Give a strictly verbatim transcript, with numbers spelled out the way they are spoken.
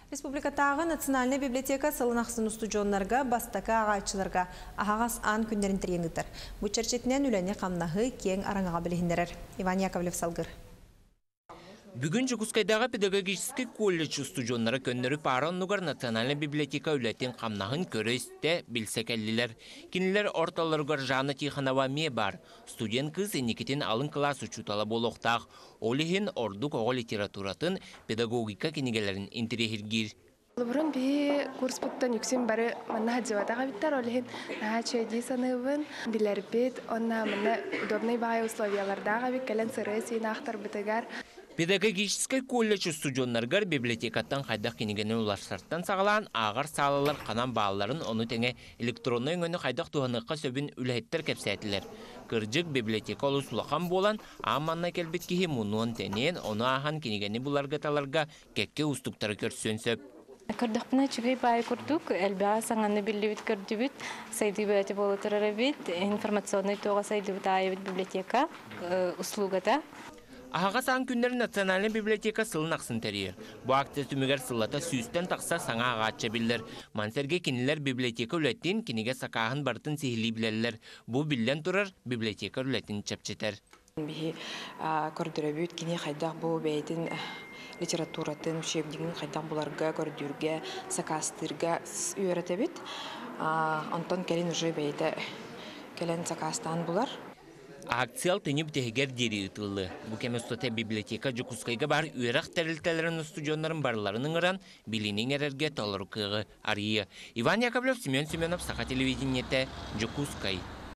Республикатааҕы национальнай библиотека сылын ахсын устудьуоннарга бастакы ааҕааччыларга аһаҕас аан күннэрин тэрийэн ыытар. Бу чэрчитинэн үлэни-хамнаһы киэҥ араҥаҕа билиһиннэрэр. Иван Яковлев салгыыр. Бүгүн Дьокуускайдааҕы педагогическай колледж устудьуоннара көннөрү паара оннугар национальнай библиотека үлэтин хамнаһын көрө-истэ, билсэ кэллилэр. Кинилэр ортолоругар Жанна Тихонова эмиэ баар. Студент кыыс инникитин алын кылаас учуутала буолуохтаах. Ол иһин ордук оҕо литературатын, педагогика кинигэлэрин интэриэһиргиир. Бұрын биһи курспуттан үксүн бары манна сылдьыбатах эбиттэр, ол иһин наһаа үчүгэй дии саныыбын. Билэрбит, онно манна удобный баҕайы условиялардаах эбит, кэлэн сырыы сиин аахтарбытыгар. Педагогическай колледж устудьуоннарыгар библиотекаттан хайдах кинигэни уларсартан саҕалаан ааҕар саалалар ханан баалларын, ону тэҥэ электроннай өҥөнү хайдах туһаныахха сөбүн үлэһиттэр кэпсээтилэр. Кырдьык, библиотека олус улахан буолан, аан маҥнай кэлбит киһи мунуон-тэнэн, ону ааһан кинигэни буларга-таларга кэккэ уустуктары көрсүөн сөп. Көрдөхпүнэ үчүгэй баҕайы курдук, элбэх саҥаны биллибит көрдүбүт, сайдыы бөҕөтө буола турар эбит, информационнай туоҕа сайдыбыт аайыбыт библиотека услугата. Аһаҕас аан күннэрин национальнай библиотека сылын ахсын тэрийэр. Бу акция түмүгэр сыллата сүүстэн тахса саҥа ааҕааччы эбиллэр. Маны сэргэ кинилэр библиотека үлэтин, кинигэ сакааһын барытын сиһилии билэллэр. Бу биллэн турар библиотека үлэтин чэпчэтэр. Биһи көрдөрөбүт кини хайдах бу бэйэтин литературатын, учебнигын хайдах буларга, көрдүүргэ, сакаастыырга үөрэтэбит. Онтон кэлин уже бэйэтэ кэлэн сакаастаан булар. Акция алтынньы бүтэһигэр диэри ыытыллыа. Бу кэм устата библиотека Дьокуускайга баар үөрэх тэрилтэлэрин устудьуоннарын барыларын ыҥыран, билиини иҥэрэргэ толору кыаҕы арыйыа. Иван Яковлев, Семен Семенов, Саха телевидениетэ, Дьокуускай.